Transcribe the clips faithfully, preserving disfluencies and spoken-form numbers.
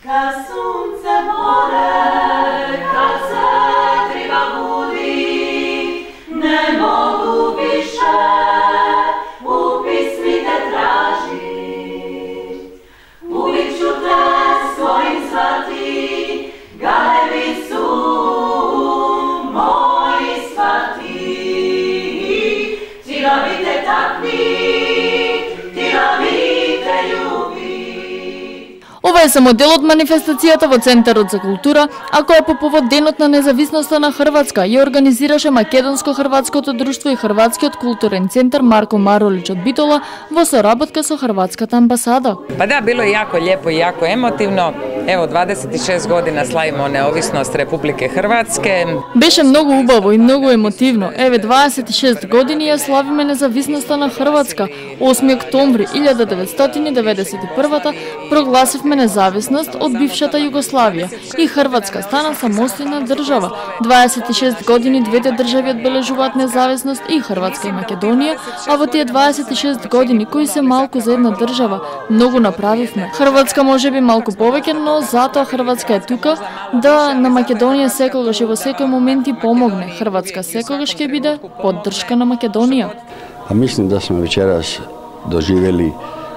Kad sunce more, kad se triba budi, ne mogu više u pismi te tražit. Uvijek ću te svojim zvati, Galevicu moji svati. Ti rabite takvi, ti rabite ljubi. Ова е само дел од манифестацијата во Центарот за култура, а која по повод Денот на независноста на Хрватска ја организираше Македонско-хрватското друштво и Хрватскиот културен центар Марко Маролич од Битола во соработка со Хрватската амбасада. Па да, било е јако лепо и јако емотивно. Ево, дваесет и шест година славимо неовисност Републике Хрватске. Беше многу убаво и многу емотивно. Еве, дваесет и шест години ја славиме независноста на Хрватска. осми октомври илјада деветстотини деветдесет и прва прогласивме независност од бившата Југославија и Хрватска стана самостојна држава. дваесет и шест години двете држави одбележуваат независност, и Хрватска и Македонија, а во тие дваесет и шест години кои се малку за една држава, многу направивме. Хрватска можеби малку повеќе, но затоа Хрватска е тука да на Македонија секогаш и во секој момент и помогне. Хрватска секогаш ќе биде поддршка на Македонија. А мислим да сме вечерас доживели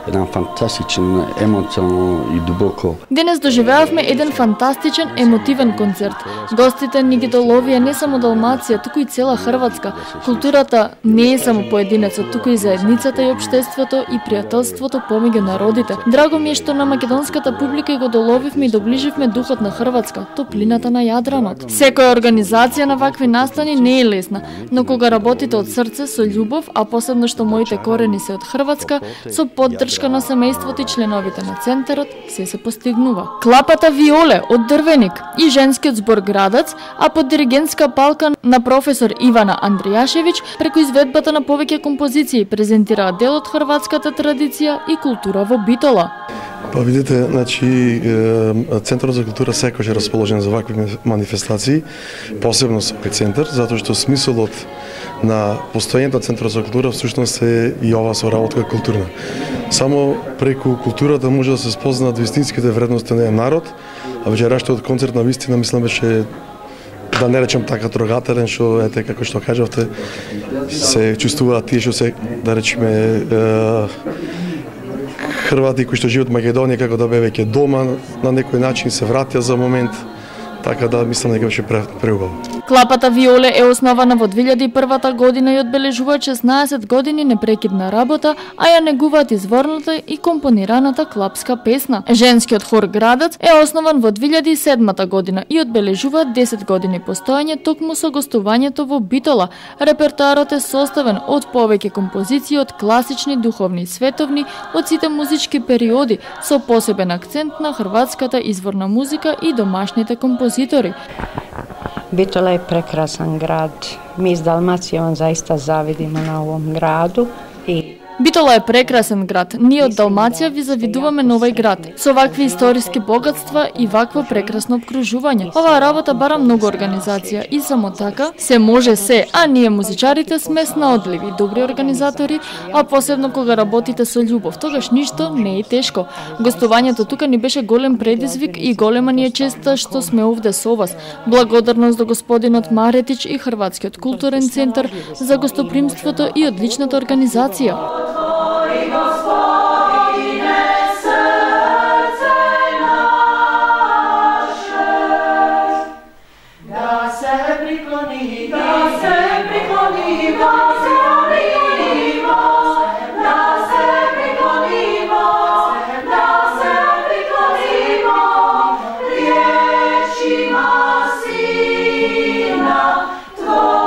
еден фантастичен, емоционално и дубоко. Денес доживеавме еден фантастичен, емотивен концерт. Гостите ни ги доловија не само Далмација, туку и цела Хрватска. Културата не е само поединецот, туку и заедницата и општеството и пријателството помеѓу народите. Драго ми е што на македонската публика го доловивме и доближивме духот на Хрватска, топлината на Јадранот. Секоја организација на вакви настани не е лесна, но кога работите од срце, со љубов, а посебно што моите корени се од Хрватска, со поддршка на семејството и членовите на центарот, се се постигнува. Клапата Виоле од Дрвеник и женскиот збор Градац, а под диригентска палка на професор Ивана Андријашевиќ, преку изведбата на повеќе композиции презентираа дел од хрватската традиција и култура во Битола. Па видите, значи Центарот за култура секогаш е расположен за вакви манифестации, посебно со овој центар, затоа што смисолот на постојањето на Центарот за култура всушност е и ова соработка културна. Само преку културата може да се спознаат вистинските вредности на еден народ, а вечерашниот концерт на вистина мислам беше, да не речем така трогателен, што ете како што кажавте, се чувствуваат тие што се, да речеме, Хрвати кои што живеат во Македонија како да бе веќе дома, на некој начин се вратија за момент, така да мислам дека беше преубаво. Клапата Виоле е основана во две илјади и прва година и одбележува шеснаесет години непрекидна работа, а ја негуваат изворната и компонираната клапска песна. Женскиот хор Градац е основан во две илјади и седма година и одбележува десет години постоење токму со гостувањето во Битола. Репертоарот е составен од повеќе композиции од класични, духовни и световни од сите музички периоди, со посебен акцент на хрватската изворна музика и домашните композитори. Bitola je prekrasan grad. Mi iz Dalmacije on zaista zavidimo na ovom gradu i Битола е прекрасен град. Ние од Далмација ви завидуваме на овој град, со вакви историски богатства и вакво прекрасно обкружување. Оваа работа бара многу организација и само така се може се, а ние музичарите сме снаодливи, добри организатори, а посебно кога работите со љубов, тогаш ништо не е тешко. Гостувањето тука ни беше голем предизвик и голема ни е честа што сме овде со вас. Благодарност до господинот Маретич и Хрватскиот културен центар за гостопримството и одличната организација. Tvoj Gospodine, srce naše, da se prikloni, da se priklonimo, da se priklonimo, da se priklonimo riječima Sina Tvoga.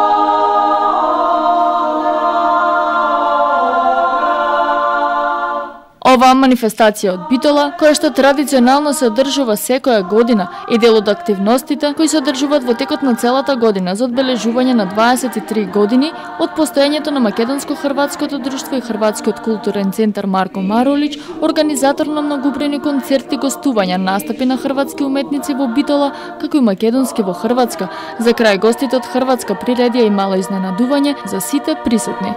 Оваа манифестација од Битола, која што традиционално се одржува секоја година, е дел од активностите кои се одржуваат во текот на целата година за одбележување на дваесет и три години од постоењето на Македонско-хрватското друштво и Хрватскиот културен центар Марко Маролич, организатор на многобројни концерти, гостувања, настапи на хрватски уметници во Битола, како и македонски во Хрватска. За крај гостите од Хрватска приредија и мало изненадување за сите присутни.